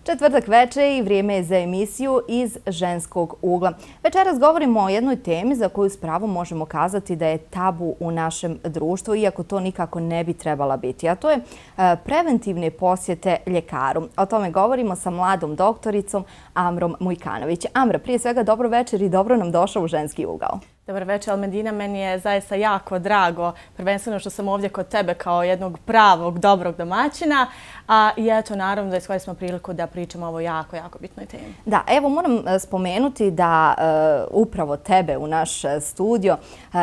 Četvrtak veče i vrijeme je za emisiju Iz ženskog ugla. Večeras govorimo o jednoj temi za koju s pravom možemo kazati da je tabu u našem društvu, iako to nikako ne bi trebala biti, a to je preventivne posjete ljekaru. O tome govorimo sa mladom doktoricom Amrom Mujkanović. Amra, prije svega dobro večer i dobro nam došao u ženski ugao. Dobar večer, Almedina. Meni je zaista jako drago, prvenstveno što sam ovdje kod tebe kao jednog pravog, dobrog domaćina. I eto, naravno da iskoristimo priliku da pričamo o ovoj jako, jako bitnoj temi. Da, evo moram spomenuti da upravo tebe u naš studio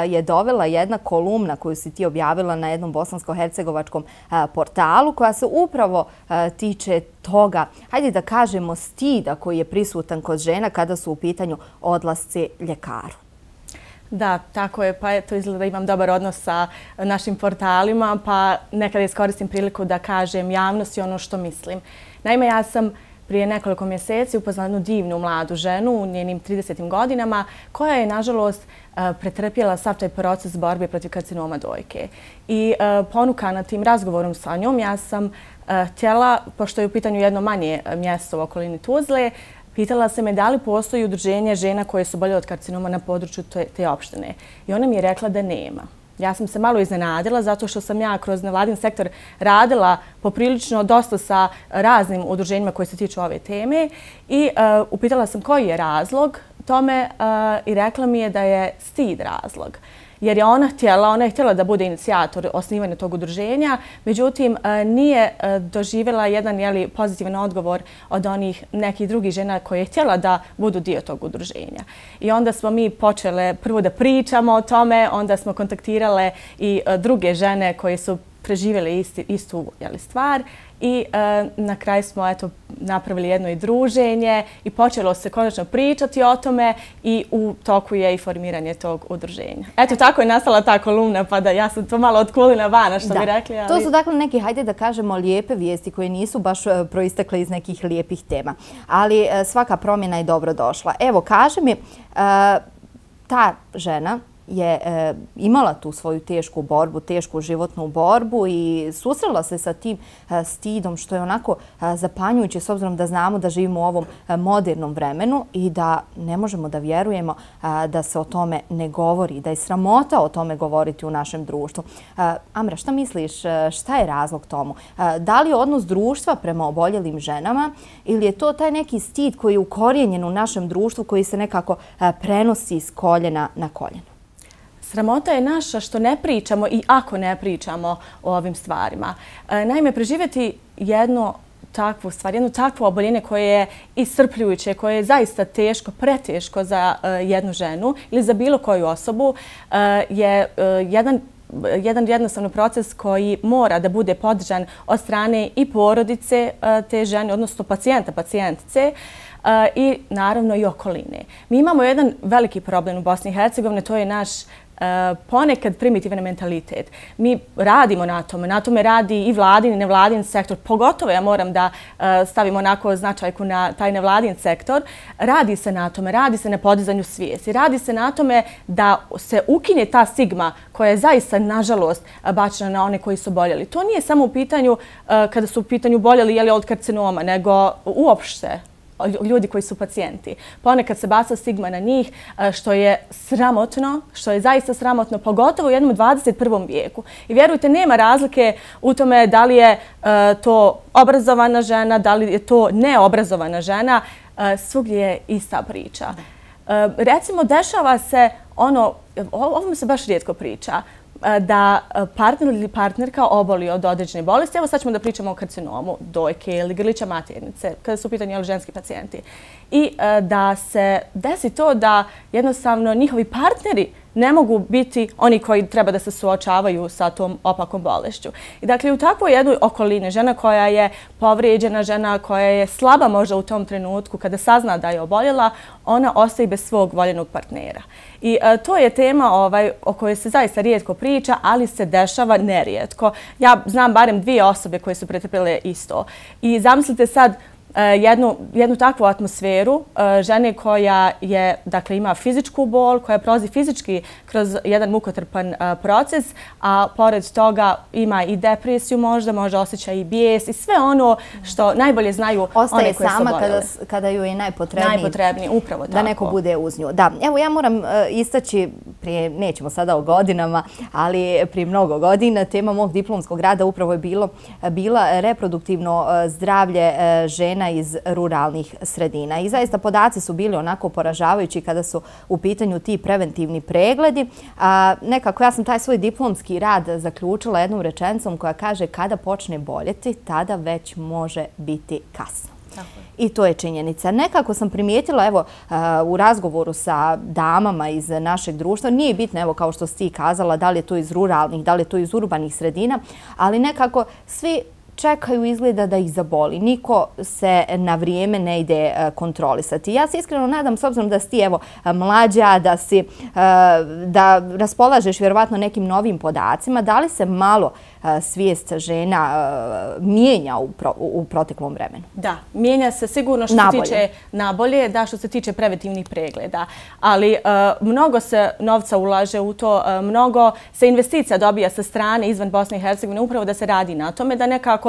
je dovela jedna kolumna koju si ti objavila na jednom bosansko-hercegovačkom portalu koja se upravo tiče toga, hajde da kažemo, stida koji je prisutan kod žena kada su u pitanju odlasci ljekaru. Da, tako je. Pa eto, izgleda da imam dobar odnos sa našim portalima, pa nekada iskoristim priliku da kažem javnosti ono što mislim. Naime, ja sam prije nekoliko mjeseci upoznala jednu divnu mladu ženu u njenim 30. godinama koja je, nažalost, pretrpjela sav taj proces borbe protiv karcinoma dojke. I ponukana tim razgovorom sa njom, ja sam htjela, pošto je u pitanju jedno manje mjesto u okolini Tuzle, pitala se me da li postoji udruženje žena koje su oboljele od karcinoma na području te opštine. I ona mi je rekla da nema. Ja sam se malo iznenadila zato što sam ja kroz nevladin sektor radila poprilično dosta sa raznim udruženjima koje se tiču ove teme i upitala sam koji je razlog tome i rekla mi je da je stid razlog. Jer je ona je htjela da bude inicijator osnivanja tog udruženja, međutim nije doživjela jedan pozitivan odgovor od onih nekih drugih žena koje je htjela da budu dio tog udruženja. I onda smo mi počele prvo da pričamo o tome, onda smo kontaktirale i druge žene koje su preživjele istu stvar i na kraju smo napravili jedno i druženje i počelo se konačno pričati o tome i u toku je i formiranje tog udruženja. Eto, tako je nastala ta kolumna, pa da ja sam to malo otkulila vana, što bi rekli. To su dakle neki, hajde da kažemo, lijepe vijesti koje nisu baš proistekle iz nekih lijepih tema. Ali svaka promjena je dobro došla. Evo, kaži mi, ta žena je imala tu svoju tešku borbu, tešku životnu borbu i susrela se sa tim stidom što je onako zapanjujuće s obzirom da znamo da živimo u ovom modernom vremenu i da ne možemo da vjerujemo da se o tome ne govori, da je sramota o tome govoriti u našem društvu. Amra, šta misliš, šta je razlog tomu? Da li je odnos društva prema oboljelim ženama ili je to taj neki stid koji je ukorijenjen u našem društvu koji se nekako prenosi s koljena na koljeno? Sramota je naša što ne pričamo i ako ne pričamo o ovim stvarima. Naime, preživjeti jednu takvu oboljenje koje je iscrpljujuće, koje je zaista teško, preteško za jednu ženu ili za bilo koju osobu, je jedan jednostavno proces koji mora da bude podržan od strane i porodice te žene, odnosno pacijentice, i naravno i okoline. Mi imamo jedan veliki problem u Bosni i Hercegovini, to je naš ponekad primitivan mentalitet. Mi radimo na tome radi i vladin i nevladin sektor, pogotovo ja moram da stavim onako značajku na taj nevladin sektor. Radi se na tome, radi se na podizanju svijesti, radi se na tome da se ukine ta stigma koja je zaista, nažalost, bačena na one koji su oboljeli. To nije samo u pitanju kada su u pitanju oboljeli od karcinoma, nego uopšte ljudi koji su pacijenti. Ponekad se baca stigma na njih, što je sramotno, što je zaista sramotno, pogotovo u jednom 21. vijeku. I vjerujte, nema razlike u tome da li je to obrazovana žena, da li je to neobrazovana žena, svugdje je ista priča. Recimo, dešava se ovo se baš rijetko priča, da partner ili partnerka oboli od određene bolesti. Evo sad ćemo da pričamo o karcinomu dojke ili grlića maternice, kada su u pitanju ženski pacijenti. I da se desi to da jednostavno njihovi partneri ne mogu biti oni koji treba da se suočavaju sa tom opakom bolešću. I dakle, u takvoj jednoj okolini, žena koja je povrijeđena, žena koja je slaba možda u tom trenutku kada sazna da je oboljela, ona ostaje bez svog voljenog partnera. I to je tema o kojoj se zaista rijetko priča, ali se dešava nerijetko. Ja znam barem 2 osobe koje su pretrpjele isto. I zamislite sad jednu takvu atmosferu žene koja je, dakle, ima fizičku bol, koja prolazi fizički kroz jedan mukotrpan proces, a pored toga ima i depresiju možda osjeća i bijes i sve ono što najbolje znaju one koje su oboljele. Ostaje sama kada ju je najpotrebniji. Najpotrebniji, upravo tako. Da neko bude uz nju. Da, evo ja moram istaći, nećemo sada o godinama, ali prije mnogo godina, tema mog diplomskog rada upravo je bila reproduktivno zdravlje žena iz ruralnih sredina. I zaista podaci su bili onako poražavajući kada su u pitanju ti preventivni pregledi. Nekako ja sam taj svoj diplomski rad zaključila jednom rečenicom koja kaže kada počne boljeti, tada već može biti kasno. I to je činjenica. Nekako sam primijetila, evo, u razgovoru sa damama iz našeg društva, nije bitno, evo, kao što si ti kazala, da li je to iz ruralnih, da li je to iz urbanih sredina, ali nekako svi čekaju izgleda da ih zaboli. Niko se na vrijeme ne ide kontrolisati. Ja se iskreno nadam, s obzirom da si ti evo mlađa, da raspolažeš vjerovatno nekim novim podacima, da li se malo svijest žena mijenja u proteklom vremenu? Da, mijenja se sigurno što se tiče nabolje, da, što se tiče preventivnih pregleda. Ali mnogo se novca ulaže u to, mnogo se investicija dobija sa strane izvan Bosne i Hercegovine, upravo da se radi na tome, da nekako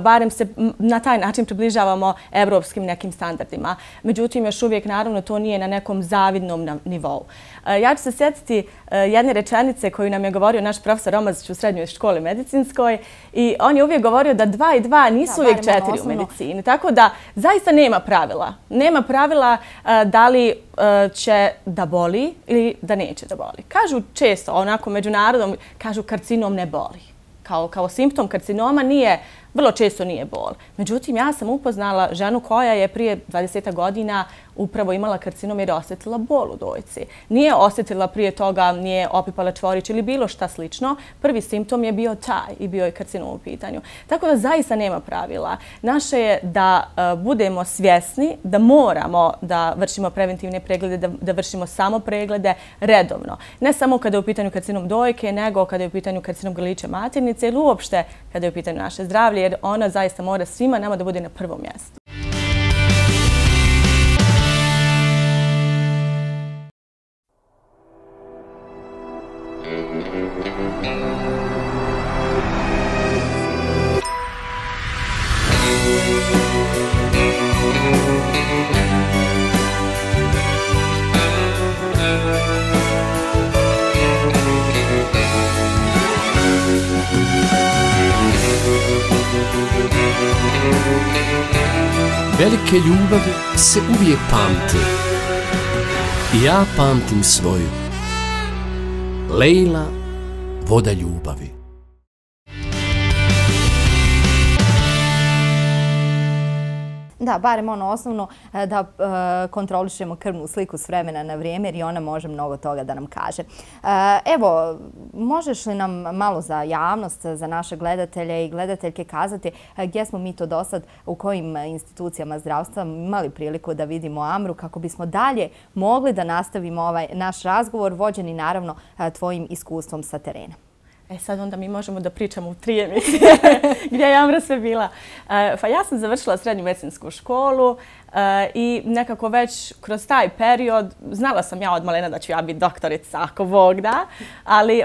barem se na taj način približavamo evropskim nekim standardima. Međutim, još uvijek, naravno, to nije na nekom zavidnom nivou. Ja ću se sjetiti jedne rečenice koju nam je govorio naš profesor Romazić u srednjoj školi medicinskoj i on je uvijek govorio da 2 i 2 nisu uvijek 4 u medicini. Tako da zaista nema pravila. Nema pravila da li će da boli ili da neće da boli. Kažu često, onako međunarodom, kažu karcinom ne boli. Kao simptom karcinoma vrlo često nije bol. Međutim, ja sam upoznala ženu koja je prije 20 godina upravo imala karcinom jer je osjetila bol u dojci. Nije osjetila prije toga, nije opipala čvorić ili bilo šta slično. Prvi simptom je bio taj i bio je karcinom u pitanju. Tako da zaista nema pravila. Naše je da budemo svjesni da moramo da vršimo preventivne preglede, da vršimo samo preglede redovno. Ne samo kada je u pitanju karcinom dojke, nego kada je u pitanju karcinom grlića maternice ili uopšte kada je u pitanju naše zdravlje, jer ona zaista mora svima nama da bude na prvom mjestu. Velike ljubavi se uvijek pamte. I ja pamtim svoju. Lejla, voda ljubavi. Da, barem ono osnovno da kontrolišemo krvnu sliku s vremena na vrijeme jer i ona može mnogo toga da nam kaže. Evo, možeš li nam malo za javnost, za naše gledatelje i gledateljke kazati gdje smo mi to dosad, u kojim institucijama zdravstva imali priliku da vidimo Amru kako bismo dalje mogli da nastavimo ovaj naš razgovor vođeni naravno tvojim iskustvom sa terena? Sad onda mi možemo da pričamo u 3 emisije gdje je Amra sve bila. Pa ja sam završila srednju medicinsku školu i nekako već kroz taj period, znala sam ja od malena da ću ja biti doktorica, ako Bog da, ali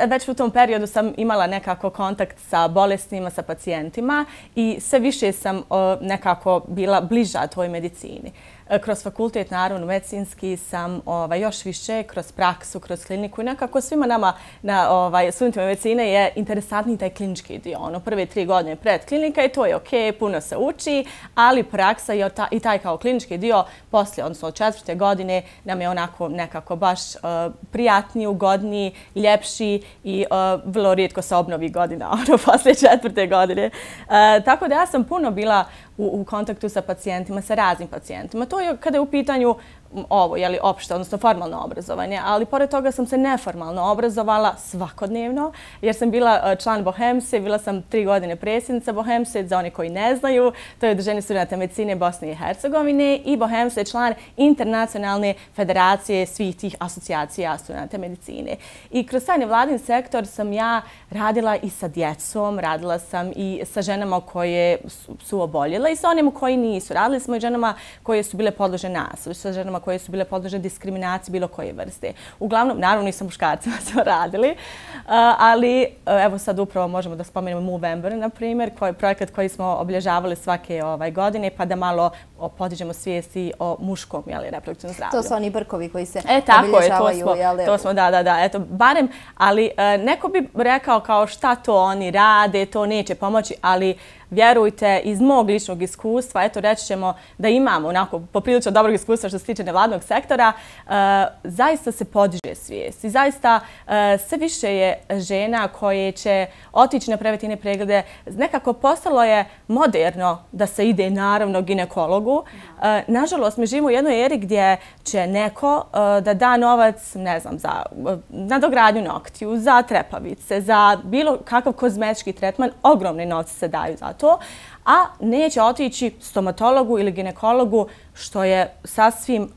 već u tom periodu sam imala nekako kontakt sa bolestima, sa pacijentima i sve više sam nekako bila bliža toj medicini. Kroz fakultet, naravno, medicinski sam još više kroz praksu, kroz kliniku i nekako svima nama na studentima medicine je interesantniji taj klinički dio. Prve 3 godine pred klinika i to je ok, puno se uči, ali praksa i taj kao klinički dio poslije, odnosno od 4. godine nam je onako nekako baš prijatniji, ugodniji, ljepši i vrlo rijetko se obnovi godina poslije 4. godine. Tako da ja sam puno bila u kontaktu sa pacijentima, sa raznim pacijentima. To je kada je u pitanju ovo, opšte, odnosno formalno obrazovanje, ali pored toga sam se neformalno obrazovala svakodnevno, jer sam bila član Bohemse, bila sam 3 godine predsjednica Bohemse, za one koji ne znaju, to je Udruženje studenata medicine Bosne i Hercegovine, i Bohemse je član internacionalne federacije svih tih asocijacija studenata medicine. I kroz taj nevladin sektor sam ja radila i sa djecom, radila sam i sa ženama koje su oboljele i sa onima koji nisu. Radili smo i ženama koje su bile podložene nasilju, sa ženama koje su bile podložene diskriminaciji bilo koje vrste. Uglavnom, naravno i sa muškarcima smo radili, ali evo sad upravo možemo da spomenemo Movember, na primjer, projekat koji smo obilježavali svake godine, pa da malo podižemo svijesti o muškom reproduktivnom zdravlju. To su oni brkovi koji se obilježavaju. To smo, da, eto, barem, ali neko bi rekao kao šta to oni rade, to neće pomoći, ali vjerujte, iz mog ličnog iskustva, eto reći ćemo da imamo onako poprilično dobrog iskustva što se tiče nevladnog sektora, zaista se podiže svijest i zaista sve više je žena koje će otići na preventivne preglede. Nekako postalo je moderno da se ide naravno ginekologu. Nažalost, mi živimo u jednoj eri gdje će neko da da novac, ne znam, za nadogradnju noktiju, za trepavice, za bilo kakav kozmetički tretman, ogromne novce se daju za to, a neće otići stomatologu ili ginekologu, što je sasvim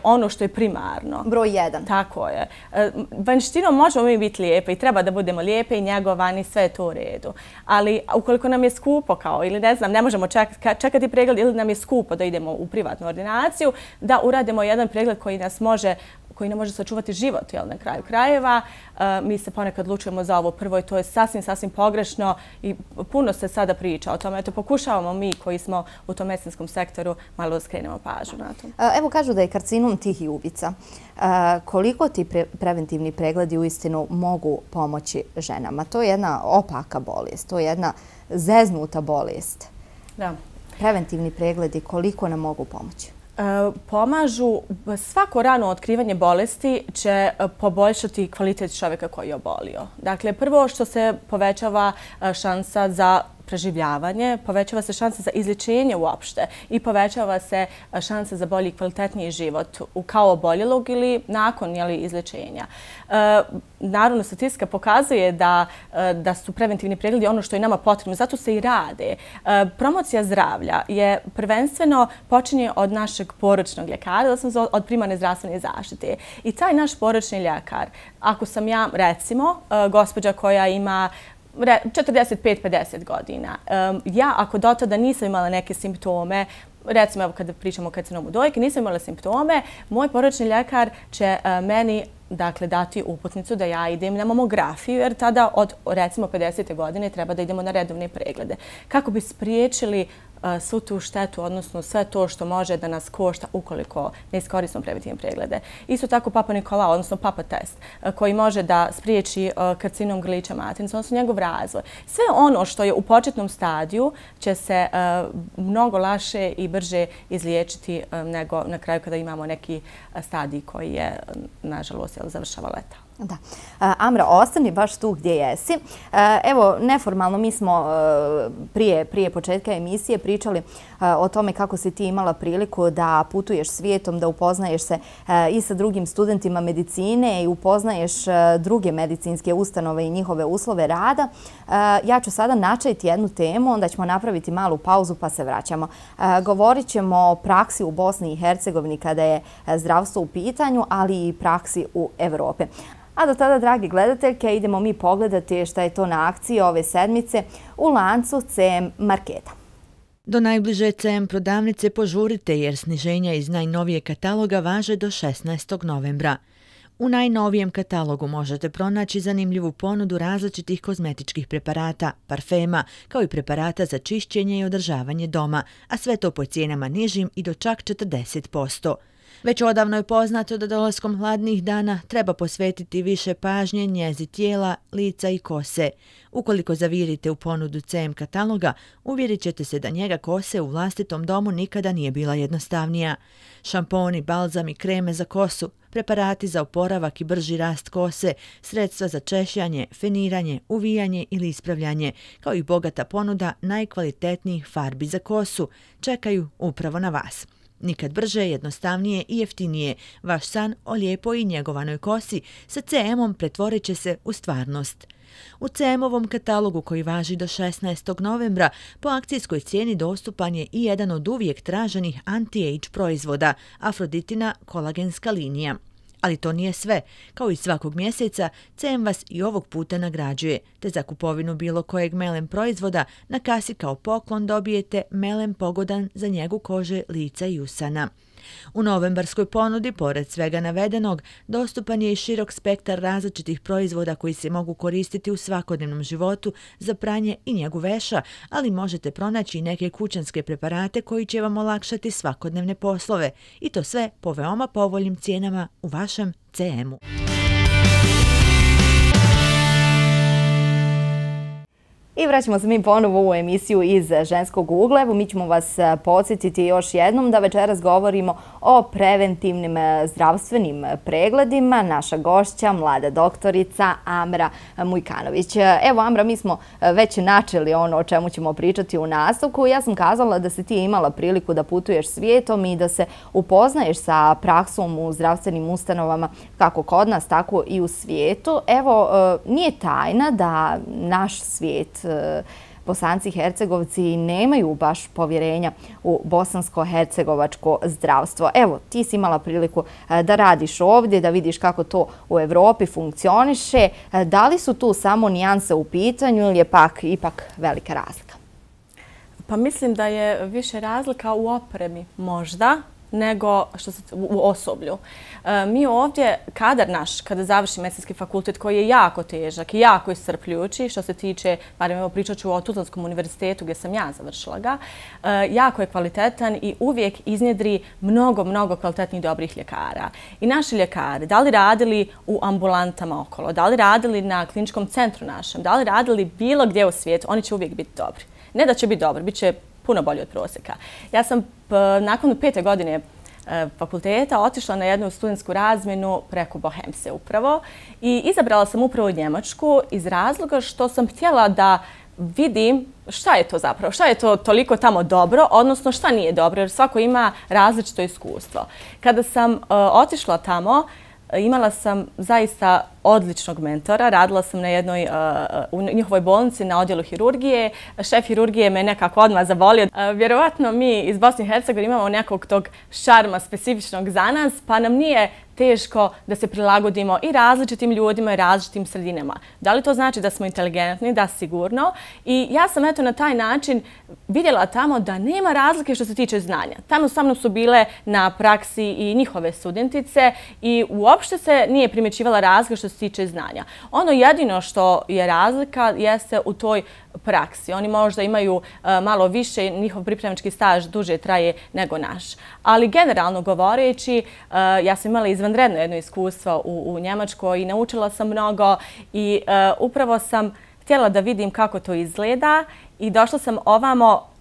ono što je primarno. Broj 1. Tako je. Vanjštinom možemo mi biti lijepe i treba da budemo lijepe i njegovani, sve je to u redu. Ali ukoliko nam je skupo ili ne znam, ne možemo čekati pregled ili nam je skupo da idemo u privatnu ordinaciju, da uradimo jedan pregled koji ne može sačuvati život na kraju krajeva. Mi se ponekad odlučujemo za ovo prvo i to je sasvim pogrešno i puno se sada priča o tome. Eto, pokušavamo mi koji smo u tom medicinskom sektoru malo da skrenemo pažnju na to. Evo kažu da je karcinom tih ubica. Koliko ti preventivni pregledi uistinu mogu pomoći ženama? To je jedna opaka bolest, to je jedna zeznuta bolest. Da. Preventivni pregledi koliko nam mogu pomoći? Pomažu, svako rano otkrivanje bolesti će poboljšati kvalitet čovjeka koji je obolio. Dakle, prvo što se povećava šansa za preživljavanje, povećava se šansa za izlječenje uopšte i povećava se šansa za bolji i kvalitetniji život kao oboljelog ili nakon izlječenja. Naravno, statistika pokazuje da su preventivni pregledi ono što je nama potrebno, zato se i rade. Promocija zdravlja je prvenstveno počinje od našeg poročnog ljekara, od primarne zdravstvene zaštite. I taj naš poročni ljekar, ako sam ja, recimo, gospođa koja ima 45-50 godina. Ja, ako do tada nisam imala neke simptome, recimo evo kada pričamo o karcinomu dojke, nisam imala simptome, moj poročni ljekar će meni dati uputnicu da ja idem na mamografiju, jer tada od recimo 50. godine treba da idemo na redovne preglede. Kako bi spriječili svu tu štetu, odnosno sve to što može da nas košta ukoliko ne iskoristimo preventivne preglede. Isto tako Papa Nikolao, odnosno Papa test, koji može da spriječi karcinom grlića maternice, odnosno njegov razvoj. Sve ono što je u početnom stadiju će se mnogo lakše i brže izliječiti nego na kraju kada imamo neki stadij koji je, nažalost, završava leta. Da. Amra, ostani baš tu gdje jesi. Evo, neformalno mi smo prije početka emisije pričali o tome kako si ti imala priliku da putuješ svijetom, da upoznaješ se i sa drugim studentima medicine i upoznaješ druge medicinske ustanove i njihove uslove rada. Ja ću sada načeti jednu temu, onda ćemo napraviti malu pauzu pa se vraćamo. Govorit ćemo o praksi u Bosni i Hercegovini kada je zdravstvo u pitanju, ali i praksi u Evropi. A do tada, dragi gledateljke, idemo mi pogledati šta je to na akciji ove sedmice u lancu CM Marketa. Do najbliže CM prodavnice požurite jer sniženja iz najnovije kataloga važe do 16. novembra. U najnovijem katalogu možete pronaći zanimljivu ponudu različitih kozmetičkih preparata, parfema, kao i preparata za čišćenje i održavanje doma, a sve to po cijenama nižim i do čak 40%. Već odavno je poznato da dolaskom hladnih dana treba posvetiti više pažnje njezi tijela, lica i kose. Ukoliko zavirite u ponudu CM kataloga, uvjerit ćete se da njega kose u vlastitom domu nikada nije bila jednostavnija. Šamponi, balzami, kreme za kosu, preparati za oporavak i brži rast kose, sredstva za češljanje, feniranje, uvijanje ili ispravljanje, kao i bogata ponuda najkvalitetnijih farbi za kosu, čekaju upravo na vas. Nikad brže, jednostavnije i jeftinije. Vaš san o lijepoj i njegovanoj kosi sa CM-om pretvorit će se u stvarnost. U CM-ovom katalogu koji važi do 16. novembra po akcijskoj cijeni dostupan je i jedan od uvijek traženih anti-age proizvoda, Afroditina kolagenska linija. Ali to nije sve. Kao i svakog mjeseca, CM vas i ovog puta nagrađuje, te za kupovinu bilo kojeg melem proizvoda na kasi kao poklon dobijete melem pogodan za njegu kože, lica i usana. U novembarskoj ponudi, pored svega navedenog, dostupan je i širok spektar različitih proizvoda koji se mogu koristiti u svakodnevnom životu za pranje i njegu veša, ali možete pronaći i neke kućanske preparate koji će vam olakšati svakodnevne poslove. I to sve po veoma povoljnim cijenama u vašem CM-u. I vraćamo se mi ponovo u emisiju iz Ženskog ugla. Evo, mi ćemo vas podsjetiti još jednom da večeras govorimo o preventivnim zdravstvenim pregledima. Naša gošća, mlada doktorica Amra Mujkanović. Evo, Amra, mi smo već načeli ono o čemu ćemo pričati u nastavku. Ja sam kazala da si ti imala priliku da putuješ svijetom i da se upoznaješ sa praksom u zdravstvenim ustanovama kako kod nas, tako i u svijetu. Evo, nije tajna da naš svijet, Bosanci i Hercegovci nemaju baš povjerenja u bosansko-hercegovačko zdravstvo. Evo, ti si imala priliku da radiš ovdje, da vidiš kako to u Evropi funkcioniše. Da li su tu samo nijanse u pitanju ili je ipak velika razlika? Pa mislim da je više razlika u opremi možda nego u osoblju. Mi ovdje, kadar naš, kada završi medicinski fakultet koji je jako težak i jako iscrpljujući, što se tiče, barem evo pričat ću o Tuzlanskom univerzitetu gdje sam ja završila ga, jako je kvalitetan i uvijek iznjedri mnogo kvalitetnih dobrih ljekara. I naši ljekari, da li radili u ambulantama okolo, da li radili na kliničkom centru našem, da li radili bilo gdje u svijetu, oni će uvijek biti dobri. Ne da će biti dobri, bit će puno bolji od prosjeka. Ja sam nakon 5. godine fakulteta otišla na jednu studentsku razmjenu preko Bohemse upravo i izabrala sam upravo Njemačku iz razloga što sam htjela da vidim šta je to zapravo, šta je to toliko tamo dobro, odnosno šta nije dobro, jer svako ima različito iskustvo. Kada sam otišla tamo, imala sam zaista odličnog mentora. Radila sam u njihovoj bolnici na odjelu hirurgije. Šef hirurgije me nekako odmah zavolio. Vjerovatno mi iz Bosne i Hercegovine imamo nekog tog šarma specifičnog za nas, pa nam nije teško da se prilagodimo i različitim ljudima i različitim sredinama. Da li to znači da smo inteligentni? Da, sigurno. I ja sam na taj način vidjela tamo da nema razlike što se tiče znanja. Tamo sa mnom su bile na praksi i njihove studentice i uopšte se nije primjećivala razlika što se tiče znanja. Ono jedino što je razlika jeste u toj praksi. Oni možda imaju malo više, njihov pripremački staž duže traje nego naš. Ali generalno govoreći, ja sam imala izvanredno jedno iskustvo u Njemačkoj i naučila sam mnogo i upravo sam htjela da vidim kako to izgleda i došla sam ovamo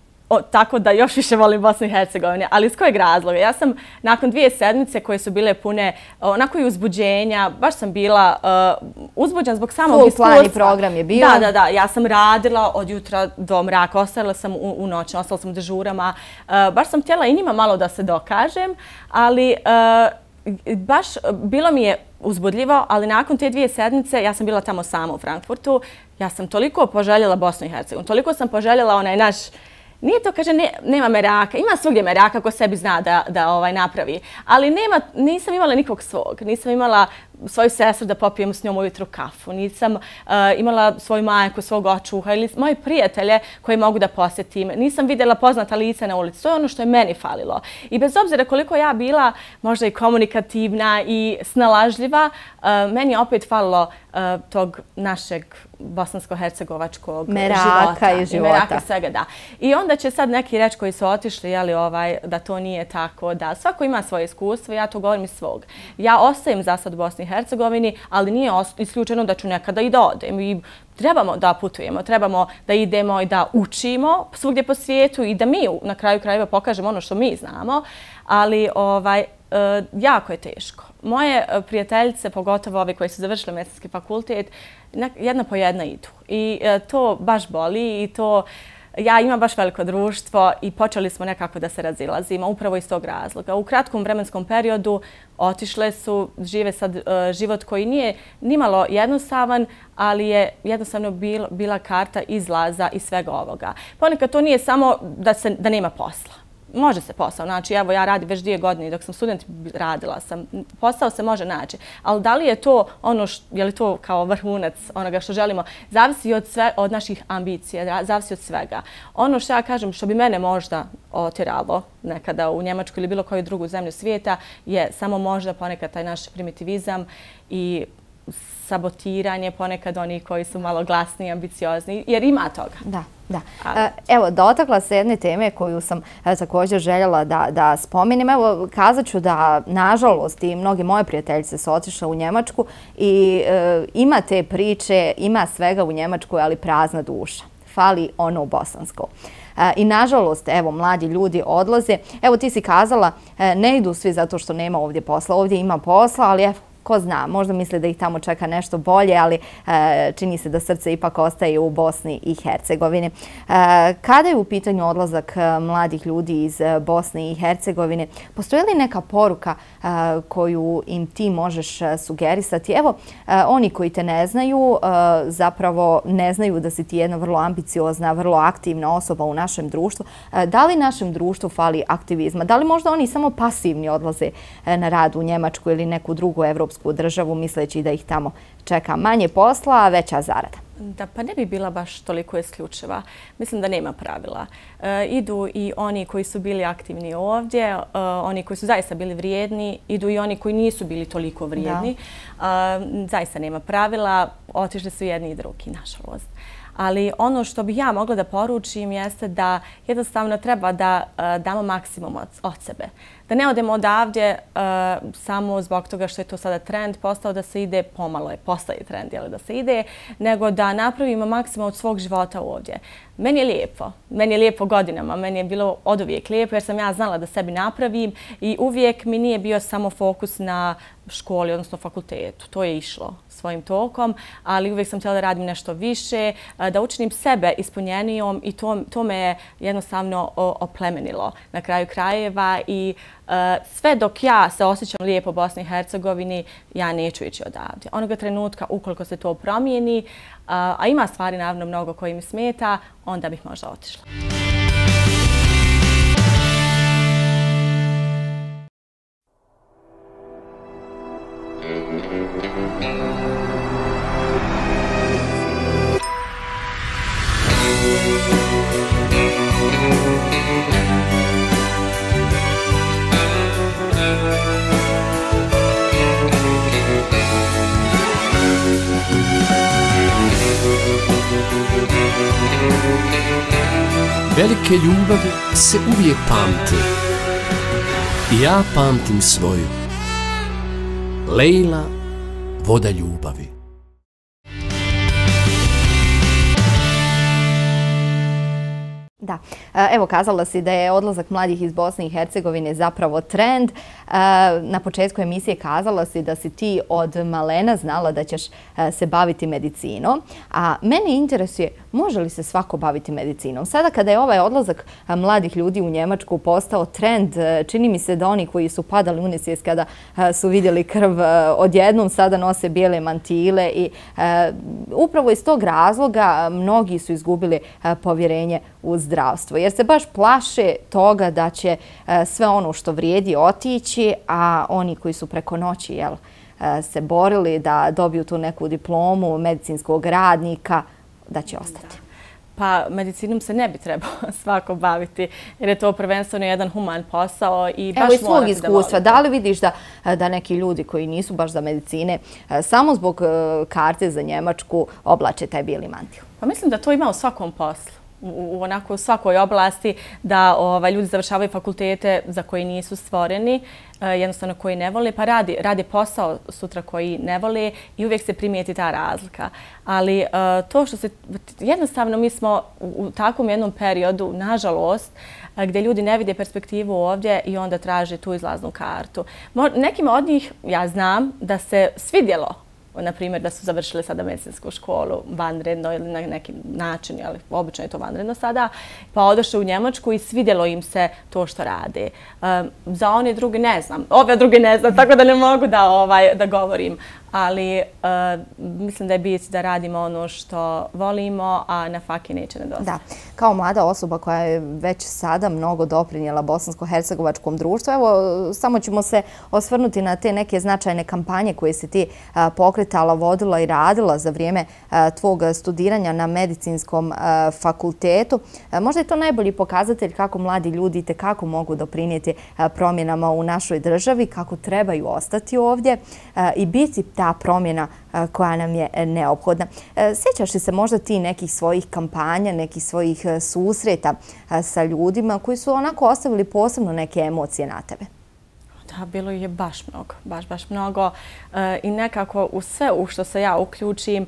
tako da još više volim Bosnu i Hercegovinu. Ali iz kojeg razloga? Ja sam nakon 2 sedmice koje su bile pune onako i uzbuđenja, baš sam bila uzbuđena zbog samog iskustva. Full plan i program je bio. Da. Ja sam radila od jutra do mraka, ostala sam u noći, ostala sam u dežurama. Baš sam htjela i njima malo da se dokažem, ali baš bilo mi je uzbudljivo, ali nakon te 2 sedmice, ja sam bila tamo sama u Frankfurtu, ja sam toliko poželjela Bosnu i Hercegovinu, toliko sam poželjela onaj naš. Nije to, kaže, nema meraka. Ima svugdje meraka ko sebi zna da napravi. Ali nisam imala nikog svog. Nisam imala svoju sestru da popijem s njom ujutru kafu. Nisam imala svoju majku, svog očuha ili moje prijatelje koje mogu da posjetim. Nisam vidjela poznata lica na ulici. To je ono što je meni falilo. I bez obzira koliko ja bila možda i komunikativna i snalažljiva, meni je opet falilo tog našeg bosansko-hercegovačkog meraka i života. Meraka svega, da. I onda će sad neki reći koji su otišli, da to nije tako, da svako ima svoje iskustvo, ja to govorim iz svog. Ja ostajem za sad u Bosni i Hercegovini, ali nije isključeno da ću nekada i da odem. I trebamo da putujemo, trebamo da idemo i da učimo svugdje po svijetu i da mi na kraju krajeva pokažemo ono što mi znamo, ali jako je teško. Moje prijateljice, pogotovo ove koje su završile medicinski fakultet, jedna po jedna idu. I to baš boli i to ja imam baš veliko društvo i počeli smo nekako da se razilazimo upravo iz tog razloga. U kratkom vremenskom periodu otišle su, žive sad život koji nije nimalo jednostavan, ali je jednostavno bila karta izlaza iz svega ovoga. Ponekad to nije samo da nema posla. Može se posao naći. Evo, ja radim već 2 godine i dok sam student radila sam. Posao se može naći. Ali da li je to ono, je li to kao vrhunac onoga što želimo? Zavisi od naših ambicija, zavisi od svega. Ono što ja kažem, što bi mene možda otjeralo nekada u Njemačku ili bilo koju drugu zemlju svijeta, je samo možda ponekad taj naš primitivizam i sabotiranje ponekad onih koji su malo glasniji i ambiciozni, jer ima toga. Da. Evo, dotakla se jedne teme koju sam također željela da spomenem. Evo, kazat ću da, nažalost, i mnogi moje prijateljice su otišle u Njemačku i ima te priče, ima svega u Njemačkoj, ali prazna duša. Fali ono bosansko. I nažalost, evo, mladi ljudi odlaze. Evo, ti si kazala, ne idu svi zato što nema ovdje posla. Ovdje ima posla, ali evo, ko zna, možda misle da ih tamo čeka nešto bolje, ali čini se da srce ipak ostaje u Bosni i Hercegovini. Kada je u pitanju odlazak mladih ljudi iz Bosne i Hercegovine, postoji li neka poruka koju im ti možeš sugerisati? Evo, oni koji te ne znaju, zapravo ne znaju da si ti jedna vrlo ambiciozna, vrlo aktivna osoba u našem društvu. Da li našem društvu fali aktivizma? Da li možda oni samo pasivni odlaze na rad u Njemačku ili neku drugu evropsku državu, misleći da ih tamo čeka manje posla, a veća zarada? Da, pa ne bi bila baš toliko isključiva. Mislim da nema pravila. Idu i oni koji su bili aktivni ovdje, oni koji su zaista bili vrijedni, idu i oni koji nisu bili toliko vrijedni. Zaista nema pravila, otišli su jedni i drugi, nažalost. Ali ono što bih ja mogla da poručim jeste da jednostavno treba da damo maksimum od sebe. Da ne odemo odavdje samo zbog toga što je to sada trend postao da se ide, pomalo je postaje trend da se ide, nego da napravimo maksimum od svog života ovdje. Meni je lijepo. Meni je lijepo godinama. Meni je bilo oduvijek lijepo jer sam ja znala da sebi napravim i uvijek mi nije bio samo fokus na školi, odnosno fakultetu. To je išlo svojim tokom, ali uvijek sam htjela da radim nešto više, da učinim sebe ispunjenijom i to me je jednostavno oplemenilo na kraju krajeva i sve dok ja se osjećam lijepo u Bosni i Hercegovini, ja neću ići odavdje. Onoga trenutka, ukoliko se to promijeni, a ima stvari naravno mnogo koji mi smeta, onda bih možda otišla. Velike ljubavi se uvijek pamte. I ja pamtim svoju. Lejla, voda ljubavi. Da, evo kazala si da je odlazak mladih iz Bosne i Hercegovine zapravo trend. Na početku emisije kazala si da si ti od malena znala da ćeš se baviti medicinom. A mene interesuje, može li se svako baviti medicinom? Sada kada je ovaj odlazak mladih ljudi u Njemačku postao trend, čini mi se da oni koji su padali u nesvijest kada su vidjeli krv odjednom sada nose bijele mantile i upravo iz tog razloga mnogi su izgubili povjerenje u zdravstvo, jer se baš plaše toga da će sve ono što vrijedi otići, a oni koji su preko noći se borili da dobiju tu neku diplomu medicinskog radnika, da će ostati. Pa medicinom se ne bi trebao svako baviti, jer je to prvenstveno jedan human posao i baš morate da volite. Evo iz svog iskustva, da li vidiš da neki ljudi koji nisu baš za medicine, samo zbog karte za Njemačku oblače taj bijeli mantil? Pa mislim da to ima u svakom poslu. U svakoj oblasti da ljudi završavaju fakultete za koji nisu stvoreni, jednostavno koji ne vole, pa rade posao sutra koji ne vole i uvijek se primijeti ta razlika. Ali to što se, jednostavno mi smo u takvom jednom periodu, nažalost, gdje ljudi ne vide perspektivu ovdje i onda traže tu izlaznu kartu. Nekima od njih, ja znam, da se svidjelo na primjer da su završili sada medicinsku školu vanredno ili na neki način, ali obično je to vanredno sada, pa odošli u Njemačku i svidjelo im se to što rade. Za one drugi ne znam, ove drugi ne znam, tako da ne mogu da govorim. Ali mislim da je bit da radimo ono što volimo, a na faki neće nedostati. Da, kao mlada osoba koja je već sada mnogo doprinijela bosansko-hercegovačkom društvu, evo samo ćemo se osvrnuti na te neke značajne kampanje koje si ti pokretala, vodila i radila za vrijeme tvog studiranja na medicinskom fakultetu. Možda je to najbolji pokazatelj kako mladi ljudi kako mogu doprinijeti promjenama u našoj državi, kako trebaju ostati ovdje i biti ta promjena koja nam je neophodna. Sjećaš li se možda ti nekih svojih kampanja, nekih svojih susreta sa ljudima koji su onako ostavili posebno neke emocije na tebe? Da, bilo je baš mnogo, baš mnogo. I nekako u sve u što se ja uključim,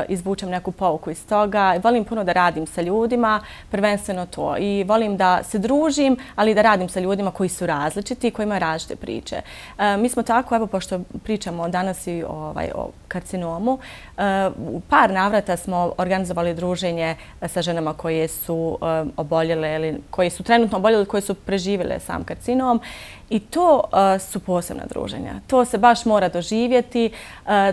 izvučem neku pouku iz toga. Volim puno da radim sa ljudima, prvenstveno to. I volim da se družim, ali da radim sa ljudima koji su različiti, koji imaju različite priče. Mi smo tako, evo, pošto pričamo danas i o karcinomu, u par navrata smo organizovali druženje sa ženama koje su oboljele ili koje su trenutno oboljele, koje su preživjele sam karcinom. I to su posebna druženja. To se baš mora doživjeti.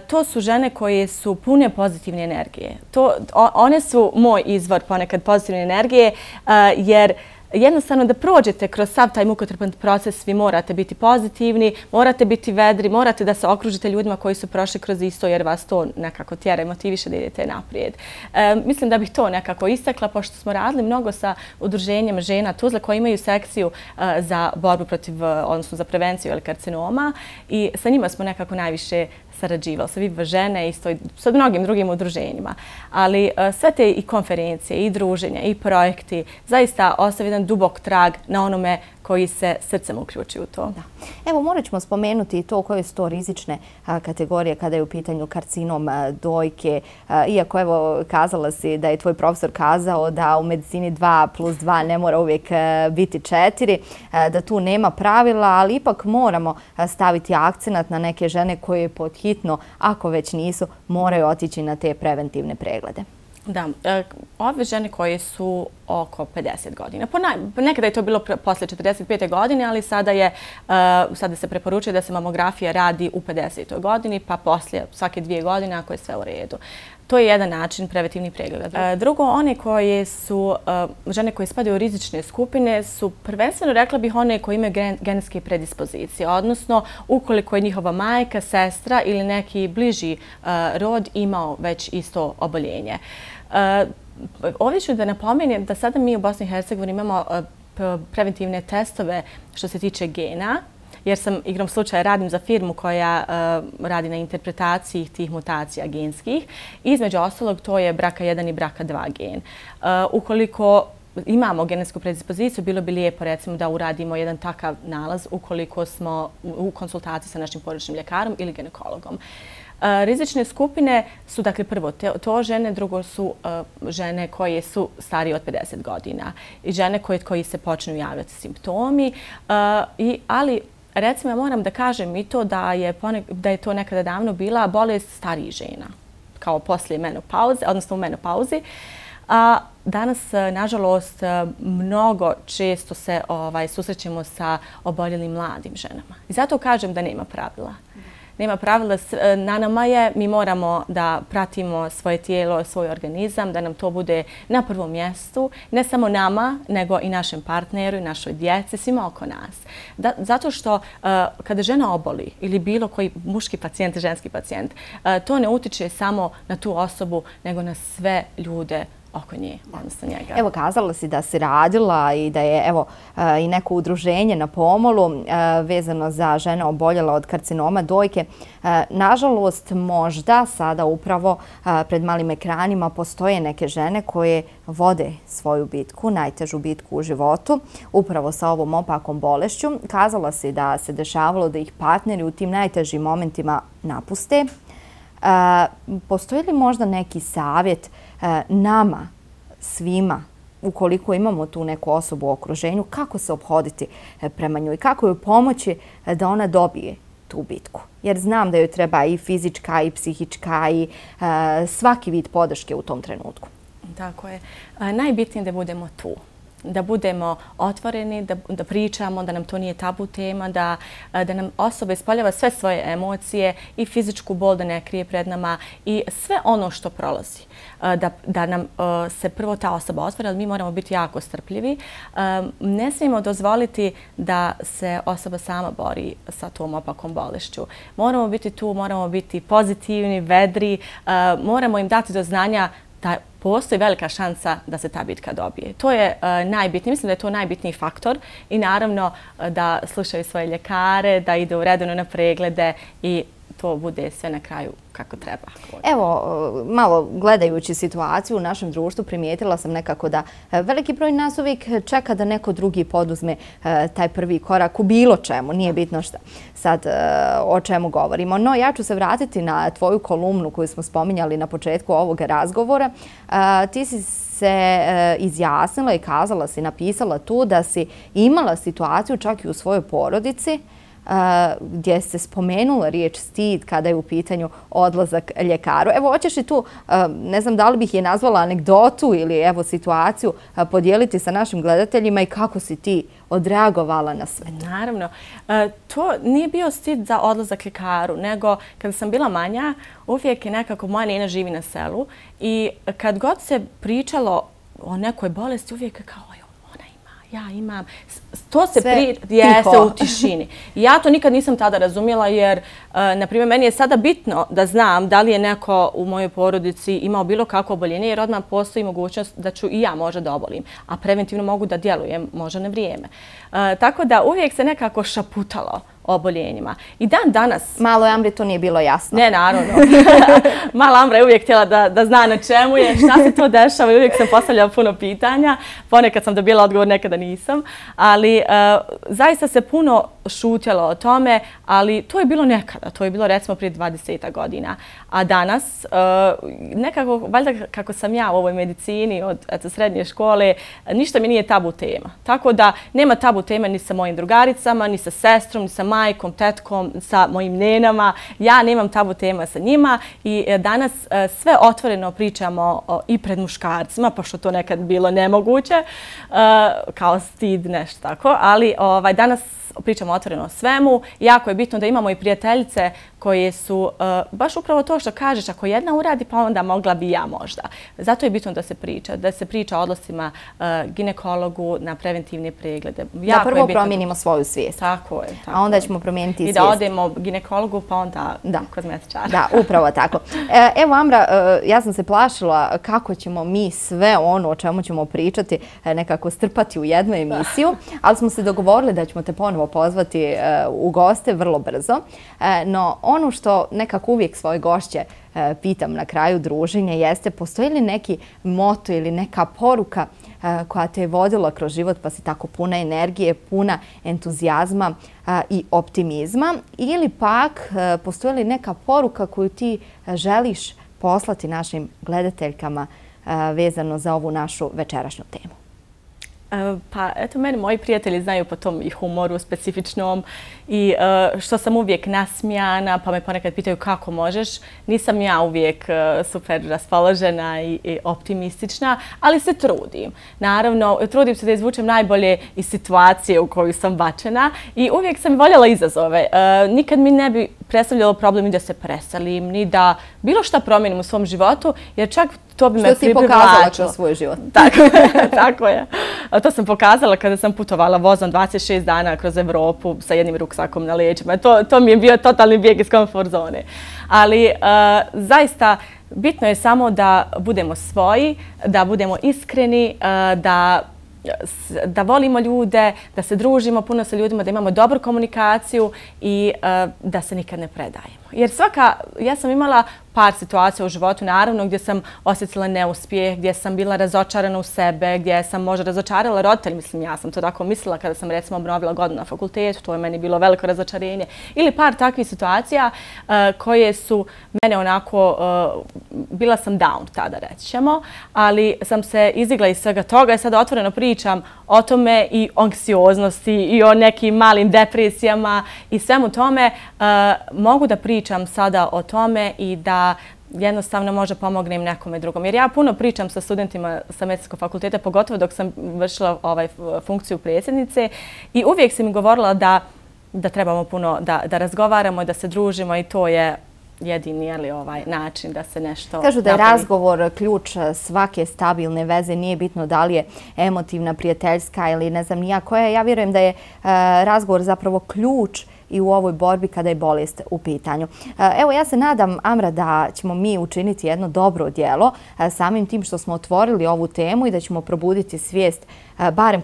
To su žene koje su pune pozitivne energije. One su moj izvor ponekad pozitivne energije, jer jednostavno da prođete kroz sav taj mukotrpan proces, vi morate biti pozitivni, morate biti vedri, morate da se okružite ljudima koji su prošli kroz isto, jer vas to nekako tjera i motiviše da idete naprijed. Mislim da bih to nekako istakla, pošto smo radili mnogo sa udruženjem žena Tuzla koji imaju sekciju za borbu protiv, odnosno za prevenciju karcinoma, i sa njima smo nekako najviše sarađivali, sa Viva žene i sa mnogim drugim udruženjima. Ali sve te i konferencije, i druženja, i projekti zaista ostavi jedan dubok trag na onome koji se srcem uključi u to. Evo, morat ćemo spomenuti i to koje su to rizične kategorije kada je u pitanju karcinom dojke. Iako, evo, kazala si da je tvoj profesor kazao da u medicini 2+2 ne mora uvijek biti 4, da tu nema pravila, ali ipak moramo staviti akcenat na neke žene koje pod hitno, ako već nisu, moraju otići na te preventivne preglede. Da, ove žene koje su oko 50 godina. Nekada je to bilo posle 45. godine, ali sada se preporučuje da se mamografija radi u 50. godini, pa poslije svake 2 godine ako je sve u redu. To je jedan način preventivnih pregleda. Drugo, one koje su, žene koje spadaju u rizične skupine su prvenstveno, rekla bih, one koje imaju genetske predispozicije, odnosno ukoliko je njihova majka, sestra ili neki bliži rod imao već isto oboljenje. Ovdje ću da napomenem da sada mi u Bosni i Hercegovini imamo preventivne testove što se tiče gena, jer sam igrom slučaja radim za firmu koja radi na interpretaciji tih mutacija genskih. Između ostalog, to je BRCA1 i BRCA2 gen. Ukoliko imamo genetsku predispoziciju, bilo bi lijepo recimo da uradimo jedan takav nalaz ukoliko smo u konsultaciji sa našim porodičnim ljekarom ili ginekologom. Rizične skupine su, dakle, prvo to žene, drugo su žene koje su starije od 50 godina i žene koji se počnu javljati simptomi, ali recimo ja moram da kažem i to da je to nekada davno bila bolest starijih žena, kao poslije menopauze, odnosno u menopauzi. Danas, nažalost, mnogo često se susrećemo sa oboljelim mladim ženama. I zato kažem da nema pravila. Nema pravila, na nama je, mi moramo da pratimo svoje tijelo, svoj organizam, da nam to bude na prvom mjestu, ne samo nama, nego i našem partneru i našoj djeci, svima oko nas. Zato što kada žena oboli ili bilo koji muški pacijent, ženski pacijent, to ne utiče samo na tu osobu, nego na sve ljude oko nje, odnosno njega. Evo, kazala si da si radila i da je i neko udruženje na pomolu vezano za žene oboljele od karcinoma dojke. Nažalost, možda sada upravo pred malim ekranima postoje neke žene koje vode svoju bitku, najtežu bitku u životu, upravo sa ovom opakom bolešću. Kazala si da se dešavalo da ih partneri u tim najtežim momentima napuste. Postoji li možda neki savjet nama, svima, ukoliko imamo tu neku osobu u okruženju, kako se ophoditi prema njoj, kako joj pomoći da ona dobije tu bitku? Jer znam da joj treba i fizička i psihička i svaki vid podrške u tom trenutku. Tako je. Najbitnije je da budemo tu. Da budemo otvoreni, da pričamo, da nam to nije tabu tema, da nam osoba ispoljava sve svoje emocije i fizičku bol da ne krije pred nama i sve ono što prolazi. Da nam se prvo ta osoba otvori, ali mi moramo biti jako strpljivi. Ne smijemo dozvoliti da se osoba sama bori sa tom opakom bolešću. Moramo biti tu, moramo biti pozitivni, vedri, moramo im dati do znanja da postoji velika šansa da se ta bitka dobije. To je najbitnije. Mislim da je to najbitniji faktor i naravno da slušaju svoje ljekare, da idu redovno na preglede i to bude sve na kraju kako treba. Evo, malo gledajući situaciju u našem društvu, primijetila sam nekako da veliki broj nas uvijek čeka da neko drugi poduzme taj prvi korak u bilo čemu. Nije bitno šta sad o čemu govorimo. No, ja ću se vratiti na tvoju kolumnu koju smo spominjali na početku ovog razgovora. Ti si se izjasnila i kazala si, napisala tu da si imala situaciju čak i u svojoj porodici gdje se spomenula riječ stid kada je u pitanju odlazak ljekaru. Evo, hoćeš li tu, ne znam da li bih je nazvala anegdotu ili evo situaciju, podijeliti sa našim gledateljima i kako si ti odreagovala na sve to? Naravno. To nije bio stid za odlazak ljekaru, nego kada sam bila manja, uvijek je nekako moja nena živi na selu i kad god se pričalo o nekoj bolesti, uvijek je kao ja imam, to se jeste u tišini. Ja to nikad nisam tada razumjela jer, na primjer, meni je sada bitno da znam da li je neko u mojoj porodici imao bilo kakvo oboljenje jer odmah postoji mogućnost da ću i ja možda da obolim, a preventivno mogu da djelujem možda na vrijeme. Tako da uvijek se nekako šaputalo o oboljenjima. I dan danas... Malo Amri to nije bilo jasno. Ne, naravno. Mala Amra je uvijek htjela da zna na čemu je, šta se to dešava i uvijek sam postavljala puno pitanja. Ponekad sam dobila odgovor, nekada nisam. Ali zaista se puno šutjelo o tome, ali to je bilo nekada. To je bilo recimo prije 20 godina. A danas, nekako, valjda kako sam ja u ovoj medicini od srednje škole, ništa mi nije tabu tema. Tako da nema tabu teme ni sa mojim drugaricama, ni sa sestrom, ni sa majkom, tetkom, sa mojim nenama. Ja nemam tabu tema sa njima i danas sve otvoreno pričamo i pred muškarcima, pošto to nekad bilo nemoguće, kao stid, nešto tako, ali danas pričamo otvoreno o svemu. Jako je bitno da imamo i prijateljice koje su baš upravo to što kažeš, ako jedna uradi, pa onda mogla bi ja možda. Zato je bitno da se priča o odlascima ginekologu na preventivne preglede. Da prvo promijenimo svoju svijest. Tako je. A onda ćemo promijeniti i svijest. I da odemo ginekologu, pa onda kozmetičara. Da, upravo tako. Evo, Amra, ja sam se plašila kako ćemo mi sve ono o čemu ćemo pričati nekako strpati u jednu emisiju, ali smo se dogovorili da ćemo te ponovo pozvati u goste vrlo brzo. No, ono što nekako uvijek svoje gošće pitam na kraju druženja jeste postoji li neki moto ili neka poruka koja te je vodila kroz život pa si tako puna energije, puna entuzijazma i optimizma ili pak postoji li neka poruka koju ti želiš poslati našim gledateljkama vezano za ovu našu večerašnju temu? Pa eto, meni moji prijatelji znaju po tom i humoru specifičnom i što sam uvijek nasmijana, pa me ponekad pitaju kako možeš. Nisam ja uvijek super raspoložena i optimistična, ali se trudim. Naravno, trudim se da izvučem najbolje iz situacije u koju sam bačena i uvijek sam voljela izazove. Nikad mi ne bi predstavljalo problem ni da se preselim, ni da bilo šta promijenim u svom životu, jer čak to bi me privlačilo. Što si pokazala kroz svoj život. Tako je. To sam pokazala kada sam putovala vozom 26 dana kroz Evropu sa jednim ruksakom na leđima. To mi je bio totalni bijeg iz komfort zone. Ali zaista bitno je samo da budemo svoji, da budemo iskreni, da volimo ljude, da se družimo puno sa ljudima, da imamo dobru komunikaciju i da se nikad ne predajemo. Jer ja sam imala par situacija u životu, naravno, gdje sam osjetila neuspjeh, gdje sam bila razočarana u sebe, gdje sam možda razočarala roditelji. Mislim, ja sam to tako mislila kada sam recimo obnovila godinu na fakultetu, to je meni bilo veliko razočarenje. Ili par takvih situacija koje su mene onako, bila sam down tada, reći ćemo, ali sam se izdigla iz svega toga i sada otvoreno pričam o tome i o anksioznosti i o nekim malim depresijama i svemu tome. Mogu da pričam sada o tome i da jednostavno može pomognem nekome drugom. Jer ja puno pričam sa studentima sa medicinskog fakulteta, pogotovo dok sam vršila funkciju predsjednice i uvijek sam mi govorila da trebamo puno da razgovaramo i da se družimo i to je jedini način da se nešto Kažu da je razgovor ključ svake stabilne veze, nije bitno da li je emotivna, prijateljska ili ne znam nija koja. Ja vjerujem da je razgovor zapravo ključ i u ovoj borbi kada je bolest u pitanju. Evo, ja se nadam, Amra, da ćemo mi učiniti jedno dobro djelo samim tim što smo otvorili ovu temu i da ćemo probuditi svijest barem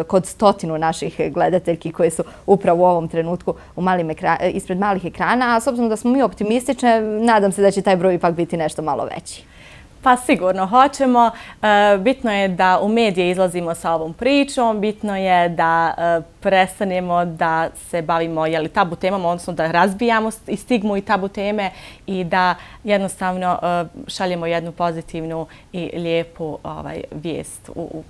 kod 100 naših gledateljki koje su upravo u ovom trenutku ispred malih ekrana, a s obzirom da smo mi optimistične, nadam se da će taj broj ipak biti nešto malo veći. Pa sigurno hoćemo. Bitno je da u medije izlazimo sa ovom pričom, bitno je da prestanemo da se bavimo tabu temama, odnosno da razbijamo i stigmu i tabu teme i da jednostavno šaljemo jednu pozitivnu i lijepu vijest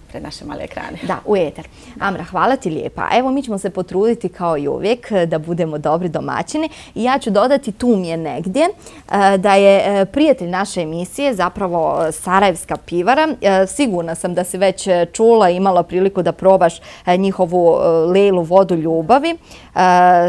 pred naše male ekrane. Da, u eter. Amra, hvala ti lijepa. Evo, mi ćemo se potruditi kao i uvijek da budemo dobri domaćini i ja ću dodati, tu mi je negdje, da je prijatelj naše emisije zapravo Sarajevska pivara. Sigurna sam da si već čula i imala priliku da probaš njihovu Lejlu vodu ljubavi.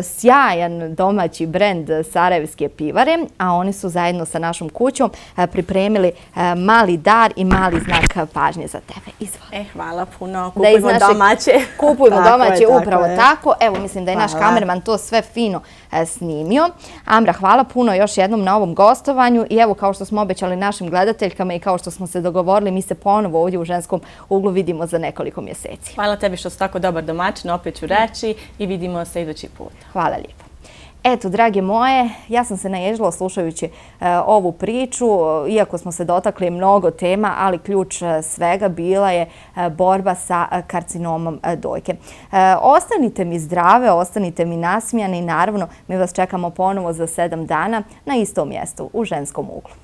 Sjajan domaći brend Sarajevske pivare, a oni su zajedno sa našom kućom pripremili mali dar i mali znak pažnje za tebe. Izvoli. Hvala puno. Kupujmo domaće. Kupujmo domaće, upravo tako. Evo, mislim da je naš kamerman to sve fino snimio. Amra, hvala puno još jednom na ovom gostovanju i evo, kao što smo obećali našim gledateljkama i kao što smo se dogovorili, mi se ponovo ovdje u Ženskom uglu vidimo za nekoliko mjeseci. Hvala tebi što si tako dobar domaćin, opet ću reći i vidimo se idući put. Hvala lijepo. Eto, drage moje, ja sam se naježila slušajući ovu priču, iako smo se dotakli mnogo tema, ali ključ svega bila je borba sa karcinomom dojke. Ostanite mi zdrave, ostanite mi nasmijani i naravno mi vas čekamo ponovo za 7 dana na istom mjestu u Ženskom uglu.